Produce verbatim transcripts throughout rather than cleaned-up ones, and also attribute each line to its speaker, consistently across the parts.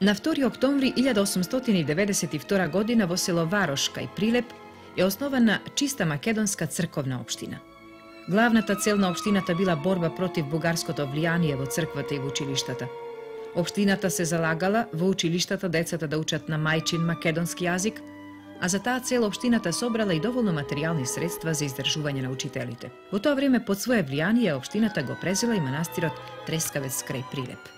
Speaker 1: На втори октомври илјада осумстотини деветдесет и втора година во село Варош кај Прилеп е основана чиста македонска црковна општина. Главната цел на општината била борба против бугарското влијание во црквата и во училиштата. Општината се залагала во училиштата децата да учат на мајчин македонски јазик, а за таа цел општината собрала и доволно материјални средства за издржување на учителите. Во тоа време под свое влијание општината го презела и манастирот Трескавец крај Прилеп.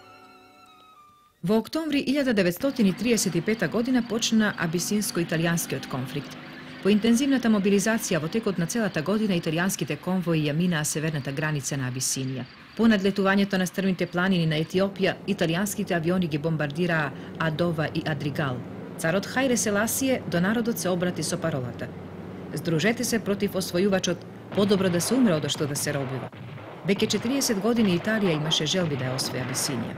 Speaker 1: Во октомври илјада деветстотини триесет и пета година почна абисинско-италијанскиот конфликт. По интензивната мобилизација во текот на целата година италијанските конвои ја минаа северната граница на Абисинија. По надлетувањето на стрмните планини на Етиопија, италијанските авиони ги бомбардираа Адова и Адригал. Царот Хајле Селасије до народот се обрати со паролата: "Здружете се против освојувачот, подобро да се умре одошто да се робива." Веќе четириесет години Италија имаше желби да ја освои Абисинија,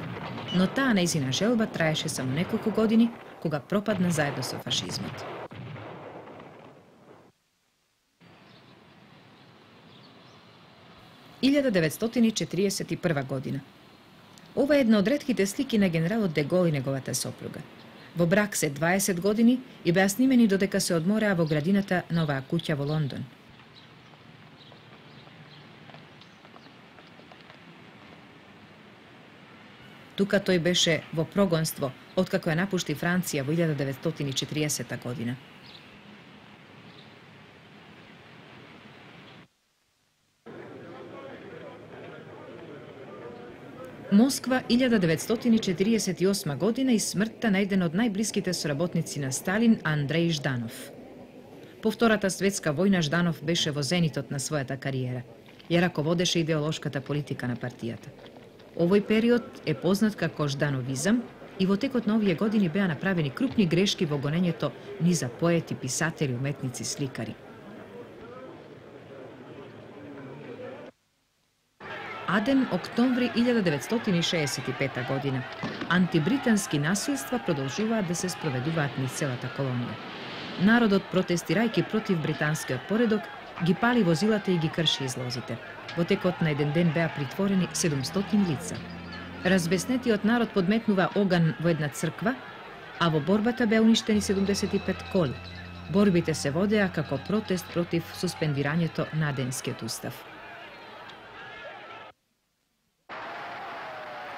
Speaker 1: но таа нејзина желба траеше само неколку години, кога пропадна заедно со фашизмот. илјада деветстотини четириесет и прва година. Ова е една од ретките слики на генералот Де Гол и неговата сопруга. Во брак се дваесет години и беа снимени додека се одмораа во градината на оваа куќа во Лондон. Тука тој беше во прогонство, откако ја напушти Франција во илјада деветстотини четириесета година. Москва, илјада деветстотини четириесет и осма година и смртта на еден од најблиските соработници на Сталин, Андреј Жданов. По Втората светска војна Жданов беше во зенитот на својата кариера. Ја раководеше идеолошката политика на партијата. Овој период е познат како Ждановизам и во текот на овие години беа направени крупни грешки во гонењето низ поети, писатели, уметници, сликари. Аден октомври илјада деветстотини шеесет и пета година. Антибритански насилства продолжуваат да се спроведуваат низ целата колонија. Народот, протестирајќи против британскиот поредок, ги пали возилата и ги крши излозите. Во текот на еден ден беа притворени седумстотини лица. Разбеснетиот народ подметнува оган во една црква, а во борбата беа уништени седумдесет и пет коли. Борбите се водеа како протест против суспендирањето на Аденскиот устав.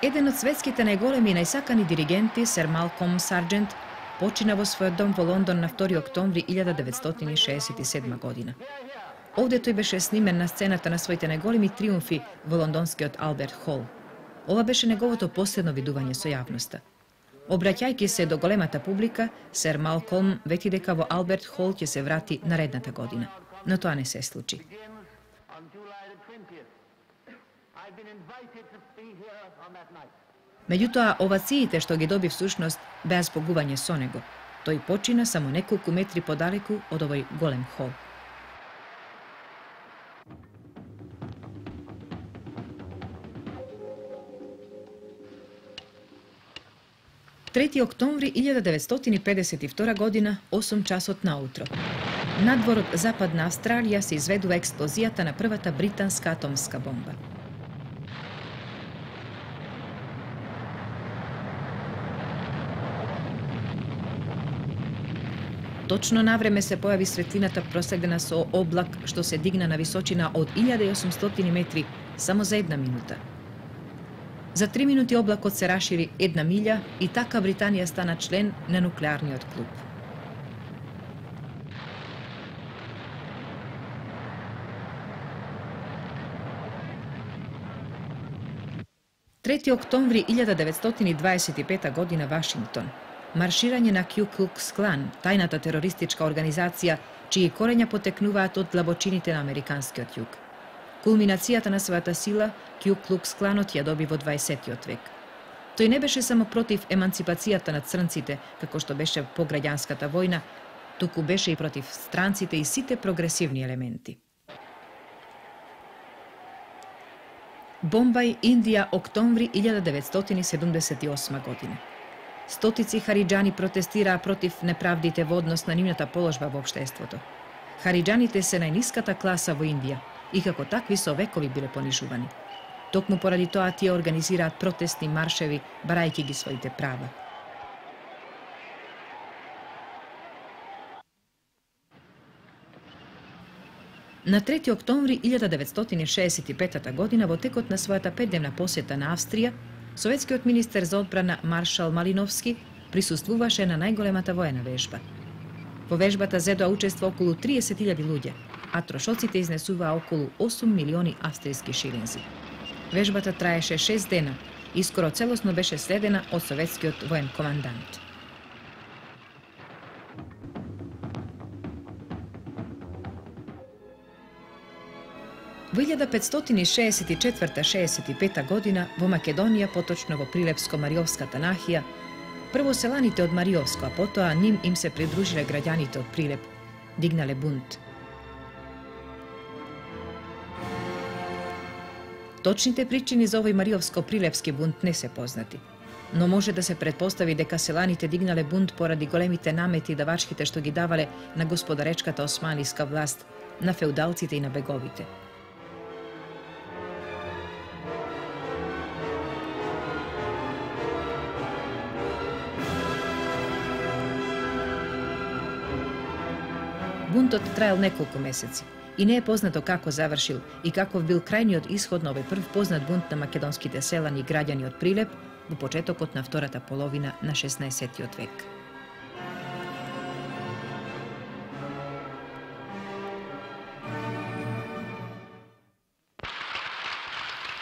Speaker 1: Еден од светските најголеми и најсакани диригенти, сер Малком Сарджент, почина во својот дом во Лондон на втори октомври илјада деветстотини шеесет и седма година. Овде тој беше снимен на сцената на своите најголеми триумфи во лондонскиот Алберт Хол. Ова беше неговото последно видување со јавноста. Обраќајќи се до големата публика, сер Малком вети дека во Алберт Хол ќе се врати наредната година, но тоа не се случи. Меѓутоа, овациите што ги доби всушност беа збогување со него. Тој почина само неколку метри подалеку од овој голем хол. трети октомври илјада деветстотини педесет и втора година, осум часот наутро. Надвор од Западна Австралија се изведува експлозијата на првата британска атомска бомба. Точно навреме се појави светлината проследена со облак што се дигна на височина од илјада и осумстотини метри само за една минута. За три минути облакот се рашири една милја и така Британија стана член на нуклеарниот клуб. трети октомври илјада деветстотини дваесет и пета година, Вашингтон. Марширање на Ку Клукс Клан, тајната терористичка организација, чии корења потекнуваат од длабочините на американскиот југ. Кулминацијата на својата сила, Ку Клукс Кланот ја доби во дваесеттиот век. Тој не беше само против еманципацијата на црнците, како што беше по граѓанската војна, туку беше и против странците и сите прогресивни елементи. Бомбај, Индија, октомври илјада деветстотини седумдесет и осма година. Стотици хариџани протестираа против неправдите во однос на нивната положба во општеството. Хариџаните се најниската класа во Индија и како такви со векови биле понижувани. Токму поради тоа тие организираат протестни маршеви, барајќи ги своите права. На трети октомври илјада деветстотини шеесет и петата година, во текот на својата петдневна посета на Австрија, советскиот министер за одбрана Маршал Малиновски присуствуваше на најголемата воена вежба. Во вежбата зедоа учество околу триесет илјади луѓе, а трошоците изнесуваа околу осум милиони австријски шилинзи. Вежбата траеше шест дена и скоро целосно беше следена од советскиот воен командант. Во илјада петстотини шеесет и четврта - шеесет и пета година во Македонија, поточно во Прилепско-Мариовската нахија, прво селаните од Мариовско, а потоа ним им се придружиле граѓаните од Прилеп, дигнале бунт. Точните причини за овој Мариовско-Прилепски бунт не се познати, но може да се претпостави дека селаните дигнале бунт поради големите намети и давачките што ги давале на господаречката османлиска власт, на феудалците и на беговите. Бунтот траел неколку месеци и не е познато како завршил и каков бил крајниот исход на овој прв познат бунт на македонските селани и граѓани од Прилеп во почетокот на втората половина на шеснаесеттиот век.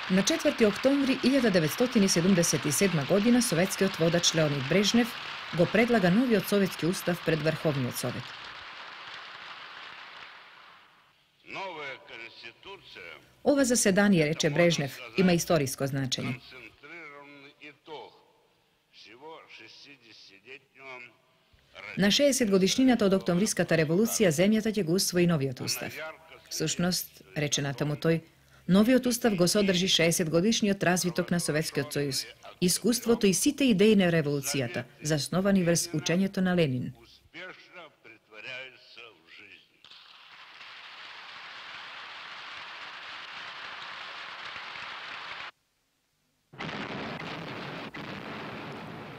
Speaker 1: На четврти октомври илјада деветстотини седумдесет и седма година советскиот водач Леонид Брежнев го предлага новиот советски устав пред Врховниот совет. Ова заседание, рече Брежнев, има историско значење. На шеесет годишнината од Октомвриската револуција земјата ќе го усвои новиот устав. Всушност, рече натаму тој, новиот устав го содржи шеесет годишниот развиток на Советскиот сојуз, искуството и сите идеи на револуцијата, засновани врз учењето на Ленин.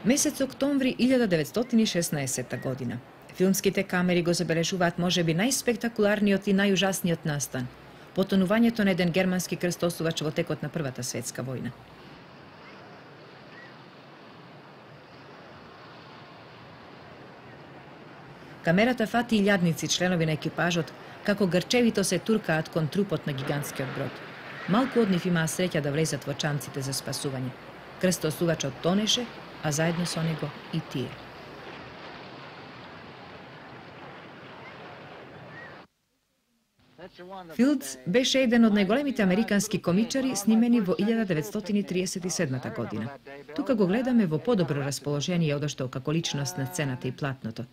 Speaker 1: Месец октомври илјада деветстотини и шеснаесетта година. Филмските камери го забележуваат можеби најспектакуларниот и најужасниот настан – потонувањето на еден германски крстосувач во текот на Првата светска војна. Камерата фати илјадници членови на екипажот како грчевито се туркаат кон трупот на гигантскиот брод. Малку од нив имаа среќа да влезат во чамците за спасување. Крстосувачот тонеше, а заедно со него и тие. Филдс беше еден од најголемите американски комичари снимени во илјада деветстотини и триесет и седма година. Тука го гледаме во подобро расположение одошто како личност на сцената и платното.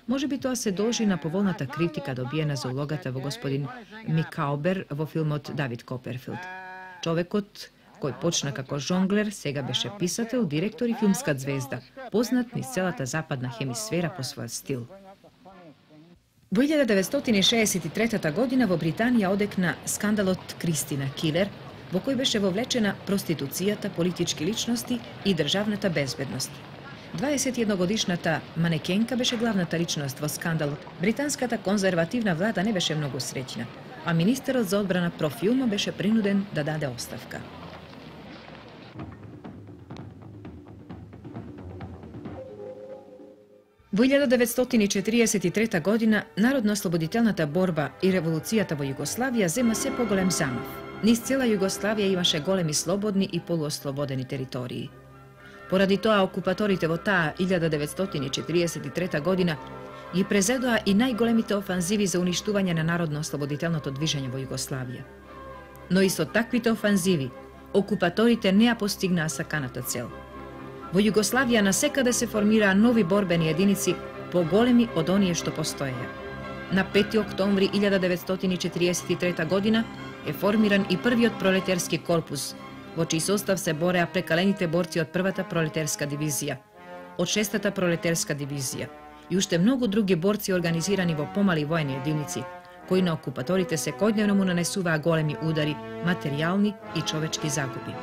Speaker 1: Може би тоа се должи на поволната критика добиена за улогата во господин Микаубер во филмот Давид Коперфилд. Човекот кој почна како жонглер, сега беше писател, директор и филмска звезда, познат низ целата западна хемисфера по својот стил. Во илјада деветстотини и шеесет и трета година во Британија одекна скандалот Кристина Килер, во кој беше вовлечена проституцијата, политички личности и државната безбедност. дваесет и едногодишната манекенка беше главната личност во скандалот. Британската конзервативна влада не беше многу среќна, а министерот за одбрана профилно беше принуден да даде оставка. Во илјада деветстотини и четириесет и трета година народно-ослободителната борба и револуцијата во Југославија зема се поголем замав. Низ цела Југославија имаше големи слободни и полуослободени територии. Поради тоа окупаторите во таа илјада деветстотини и четириесет и трета година ги презедоа и најголемите офанзиви за уништување на народно-ослободителното движење во Југославија. Но и со таквите офанзиви окупаторите не ја постигнаа саканата цел. Во Југославија насекаде се формираа нови борбени единици поголеми од оние што постоеја. На пети октомври илјада деветстотини и четириесет и трета година е формиран и првиот пролетарски корпус, во чиј состав се бореа прекалените борци од првата пролетарска дивизија, од шестата пролетарска дивизија и уште многу други борци организирани во помали воени единици, кои на окупаторите секојдневно му нанесуваа големи удари, материјални и човечки загуби.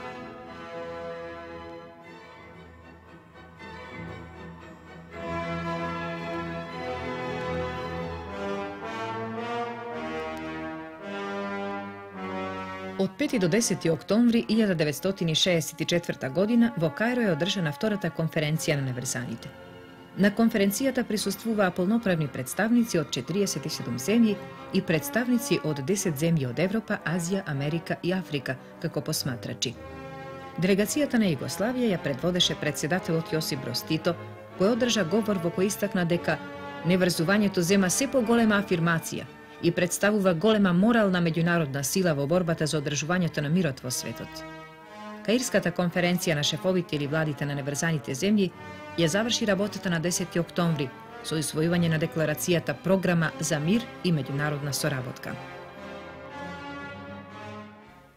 Speaker 1: Од пети до десети октомври илјада деветстотини шеесет и четврта година во Кајро е одржана втората конференција на неврзаните. На конференцијата присуствуваа полноправни представници од четириесет и седум земји и представници од десет земји од Европа, Азија, Америка и Африка како посматрачи. Делегацијата на Југославија ја предводеше претседателот Јосип Броз Тито, кој одржа говор во кој истакна дека неврзувањето зема се поголема афирмација и представува голема морална меѓународна сила во борбата за одржувањето на мирот во светот. Каирската конференција на шефовите или владите на неврзаните земји ја заврши работата на десети октомври со усвојување на декларацијата Програма за мир и меѓународна соработка.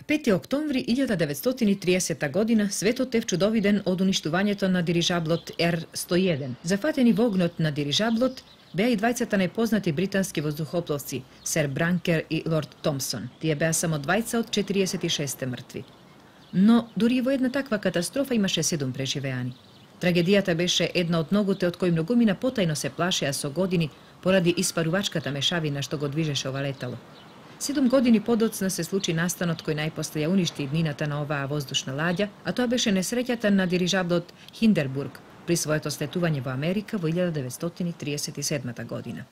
Speaker 1: пети октомври илјада деветстотини и триесета година светот е вчудовиден од уништувањето на дирижаблот Ер сто и еден. Зафатени во огнот на дирижаблот беа и двајцата најпознати британски воздухопловци, Сер Бранкер и Лорд Томпсон. Тие беа само двајца од четириесет и шест мртви. Но дури и во една таква катастрофа имаше седум преживеани. Трагедијата беше една од многуте од кои многумина потајно се плашеа со години поради испарувачката мешавина што го движеше ова летало. Седум години подоцна се случи настанот кој најпосле ја уништи иднината на оваа воздушна ладја, а тоа беше несреќата на дирижаблот Хиндербург при своето слетување во Америка во илјада деветстотини триесет и седма година.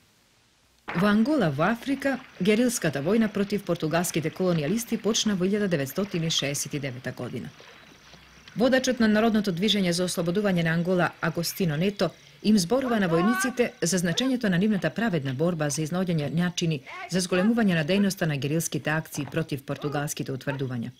Speaker 1: Во Ангола во Африка, герилската војна против португалските колонијалисти почна во илјада деветстотини шеесет и девета година. Водачот на народното движење за ослободување на Ангола Агостино Нето им зборува на војниците за значењето на нивната праведна борба за изнаоѓање начини за зголемување на дејноста на герилските акции против португалските утврдувања.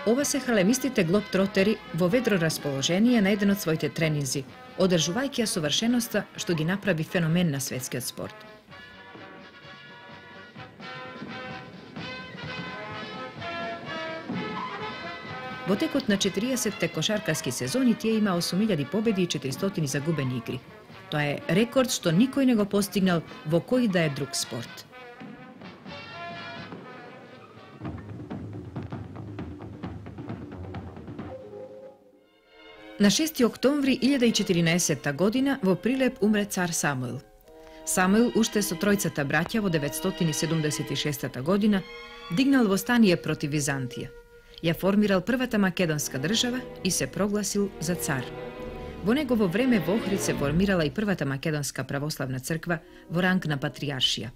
Speaker 1: Ова се халемистите глобтротери во ведро расположение на еден од своите тренинзи, одржувајќи ја совршеноста што ги направи феномен на светскиот спорт. Во текот на четириесетте кошаркарски сезони тие има осум илјади победи и четиристотини загубени игри. Тоа е рекорд што никој не го постигнал во кој да е друг спорт. На шести октомври илјада и четиринаесетта година во Прилеп умре цар Самуил. Самуил уште со тројцата браќа во деветстотини седумдесет и шеста година дигнал востание против Византија. Ја формирал првата македонска држава и се прогласил за цар. Во негово време во Охрид се формирала и првата македонска православна црква во ранг на патриаршија.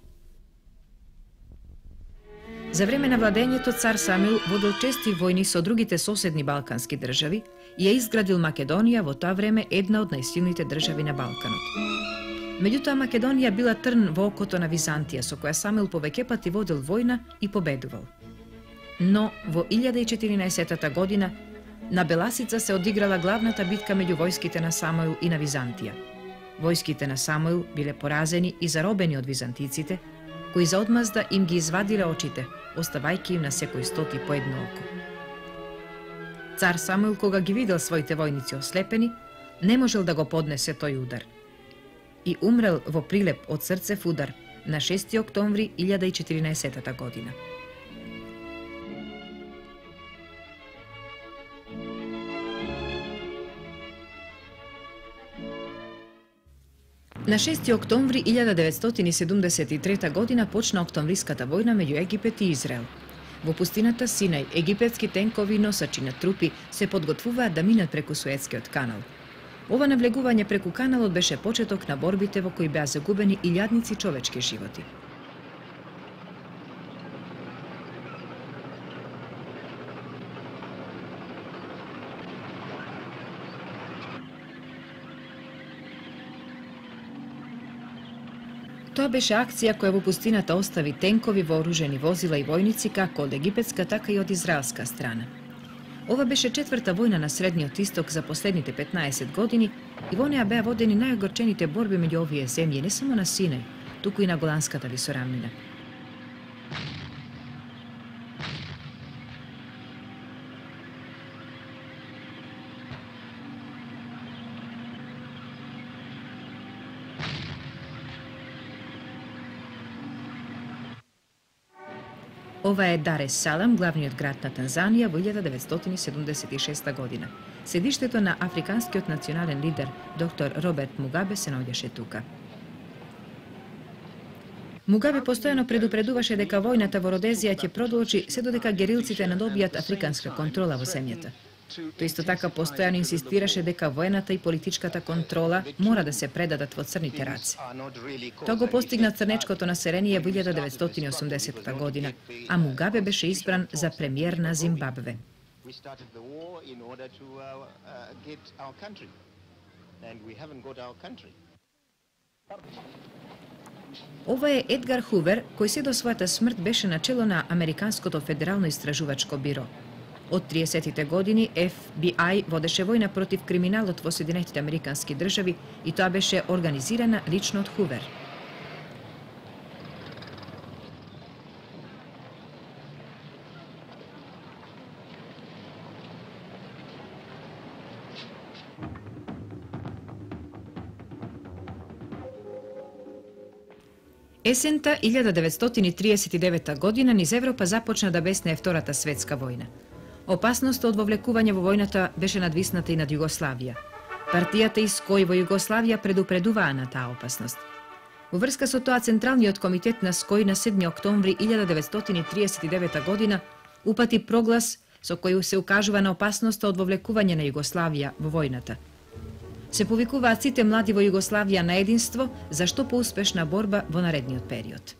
Speaker 1: За време на владењето цар Самуил водел чести војни со другите соседни балкански држави и ја изградил Македонија, во тоа време една од најсилните држави на Балканот. Меѓутоа Македонија била трн во окото на Византија, со која Самуил повеќе пати водел војна и победувал. Но во илјада и четиринаесетта година на Беласица се одиграла главната битка меѓу војските на Самуил и на Византија. Војските на Самуил биле поразени и заробени од византиците, кои за одмазда им ги извадиле очите, оставајќи им на секој стоти по едно око. Цар Самуил, кога ги видел своите војници ослепени, не можел да го поднесе тој удар. И умрел во Прилеп од срцев удар на шести октомври илјада и четиринаесетта година. На шести октомври илјада деветстотини седумдесет и трета година почна октомвриската војна меѓу Египет и Израел. Во пустината Синај, египетски тенкови носачи на трупи се подготвуваат да минат преку Суетскиот канал. Ова навлегување преку каналот беше почеток на борбите во кои беа загубени илјадници човечки животи. Тоа беше акција која во пустината остави тенкови, вооружени возила и војници како од египетска, така и од израелска страна. Ова беше четврта војна на Средниот Исток за последните петнаесет години и во неа беа водени најогорчените борби меѓу овие земји, не само на Синај, туку и на Голанската висорамнина. Ова е Дар ес Салам, главниот град на Танзанија во илјада деветстотини седумдесет и шеста година. Седиштето на африканскиот национален лидер, доктор Роберт Мугабе, се наоѓаше тука. Мугабе постојано предупредуваше дека војната во Родезија ќе продолжи се додека герилците надобијат африканска контрола во земјата. Тој исто така постојано инсистираше дека воената и политичката контрола мора да се предадат во црните раце. Тоа го постигна црнечкото население во илјада деветстотини и осумдесетта година, а Мугабе беше избран за премиер на Зимбабве. Ова е Едгар Хувер, кој се до својата смрт беше начело на Американското федерално истражувачко биро. Од триесеттите години Еф Би Ај водеше војна против криминалот во Соединетите Американски држави и тоа беше организирана лично од Хувер. Есента илјада деветстотини триесет и девета година низ Европа започна да беснее Втората светска војна. Опасноста од вовлекување во војната беше надвисната и над Југославија. Партијата СКОј во Југославија предупредуваа на таа опасност. Во врска со тоа Централниот комитет на СКОј на седми октомври илјада деветстотини триесет и девета година упати проглас со кој се укажува на опасноста од вовлекување на Југославија во војната. Се повикуваат сите млади во Југославија на единство за што поуспешна борба во наредниот период.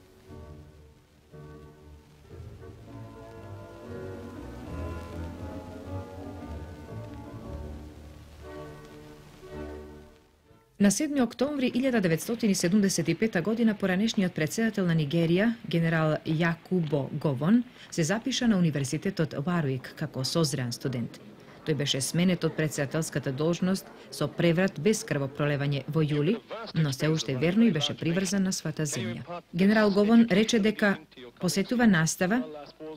Speaker 1: На седми октомври илјада деветстотини седумдесет и пета година поранешниот претседател на Нигерија, генерал Јакубо Говон, се запиша на Универзитетот Варуик како созреан студент. Тој беше сменет од претседателската должност со преврат без крвопролевање во јули, но се уште верно и беше приврзан на својата земја. Генерал Говон рече дека посетува настава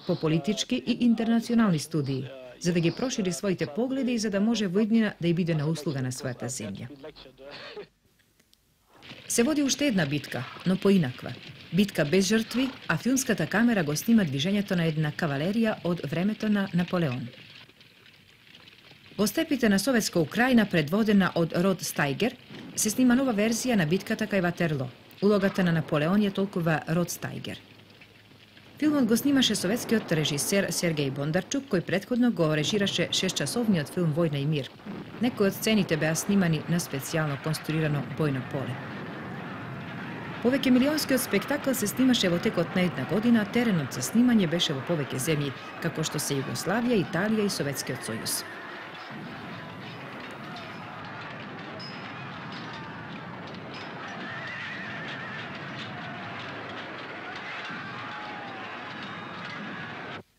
Speaker 1: по политички и интернационални студии, за да ги прошири своите погледи и за да може во иднина да ја биде на услуга на својата земја. Се води уште една битка, но поинаква. Битка без жртви, а филмската камера го снима движењето на една кавалерија од времето на Наполеон. Во степите на Советска Украина, предводена од Род Стајгер, се снима нова верзија на битката кај Ватерло. Улогата на Наполеон ја толкува Род Стајгер. Филмот го снимаше советскиот режисер Сергеј Бондарчук, кој претходно го режираше шестчасовниот филм Војна и мир. Некои од сцените беа снимани на специјално конструирано бојно поле. Повеќе милионскиот спектакл се снимаше во текот на една година, а теренот за снимање беше во повеќе земји, како што се Југославија, Италија и Советскиот сојуз.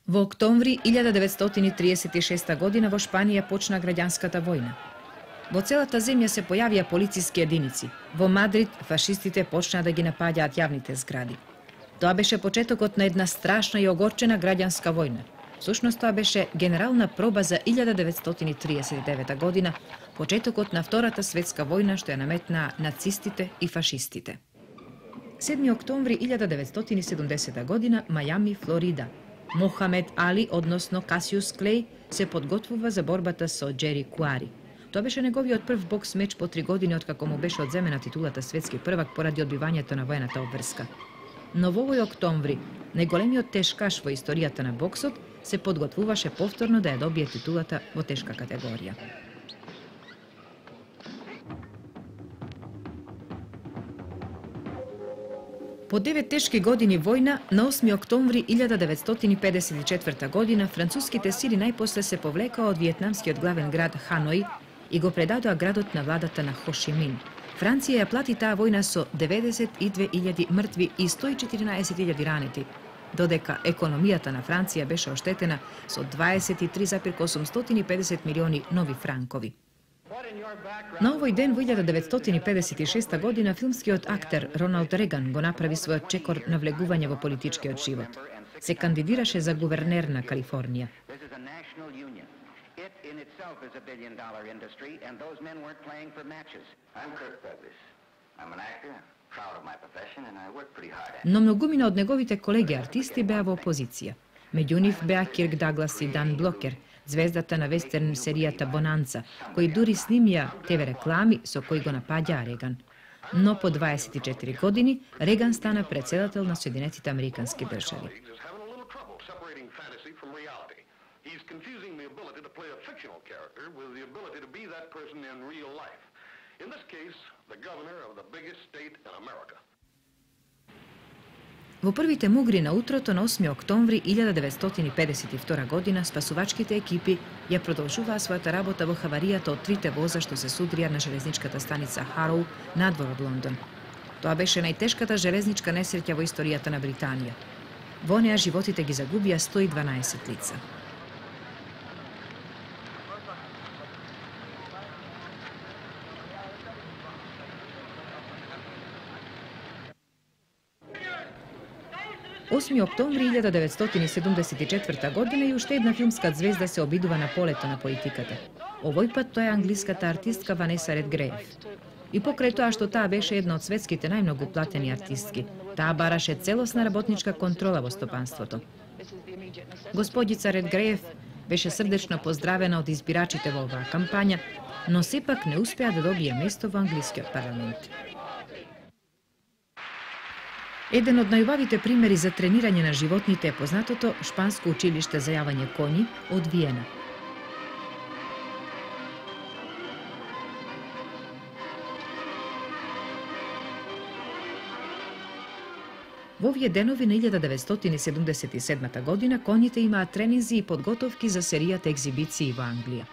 Speaker 1: Во октомври илјада деветстотини триесет и шеста година во Шпанија почна граѓанската војна. Во целата земја се појавија полициски единици. Во Мадрид фашистите почнаа да ги напаѓаат јавните згради. Тоа беше почетокот на една страшна и огорчена граѓанска војна. Всушност тоа беше генерална проба за илјада деветстотини триесет и девета година, почетокот на Втората светска војна што ја наметнаа нацистите и фашистите. седми октомври илјада деветстотини седумдесета година, Мајами, Флорида. Мохамед Али, односно Касиус Клеј, се подготвува за борбата со Џери Куари. Тоа беше неговиот прв бокс меч по три години откако му беше одземена титулата светски првак поради одбивањето на воената обврска. Но во овој октомври, најголемиот тешкаш во историјата на боксот, се подготвуваше повторно да ја добие титулата во тешка категорија. По девет тешки години војна, на осми октомври илјада деветстотини педесет и четврта година, француските сили најпосле се повлекаа од виетнамскиот главен град Ханој и го предадоа градот на владата на Хо Ши Мин. Франција ја плати таа војна со деветдесет и две илјади мртви и сто и четиринаесет илјади ранети, додека економијата на Франција беше оштетена со дваесет и три зарез осумстотини и педесет милиони нови франкови. На овој ден во илјада деветстотини педесет и шеста година филмскиот актер Роналд Реган го направи својот чекор на влегување во политичкиот живот. Се кандидираше за гувернер на Калифорнија. Но многумина од неговите колеги артисти беа во опозиција. Меѓу нив беа Кирк Даглас и Дан Блокер, звездата на вестерн серијата Бонанца, кои дури снимија те ве реклами со кои го напаѓаа Реган. но по дваесет и четири години Реган стана председател на Соединетите американски држави. Во првите мугри на утрото на осми октомври илјада деветстотини педесет и втора година спасувачките екипи ја продолжуваа својата работа во хаваријата од трите воза што се судрија на железничката станица Хароу надвор од Лондон. Тоа беше најтешката железничка несреќа во историјата на Британија. Во неа животите ги загубија сто и дванаесет лица. осми октомври илјада деветстотини седумдесет и четврта година и уште една филмска ѕвезда се обидува на полето на политиката. Овој пат тоа е англиската артистка Ванеса Редгреев. И покрај тоа што таа беше една од светските најмногу платени артистки, таа бараше целосна работничка контрола во стопанството. Господица Редгреев беше срдечно поздравена од избирачите во оваа кампања, но сепак не успеа да добие место во англискиот парламент. Еден од најубавите примери за тренирање на животните е познатото шпанско училиште за јавање коњи од Виена. Во овие денови на илјада деветстотини седумдесет и седма година коњите имаат тренинзи и подготовки за серијата екзибиции во Англија.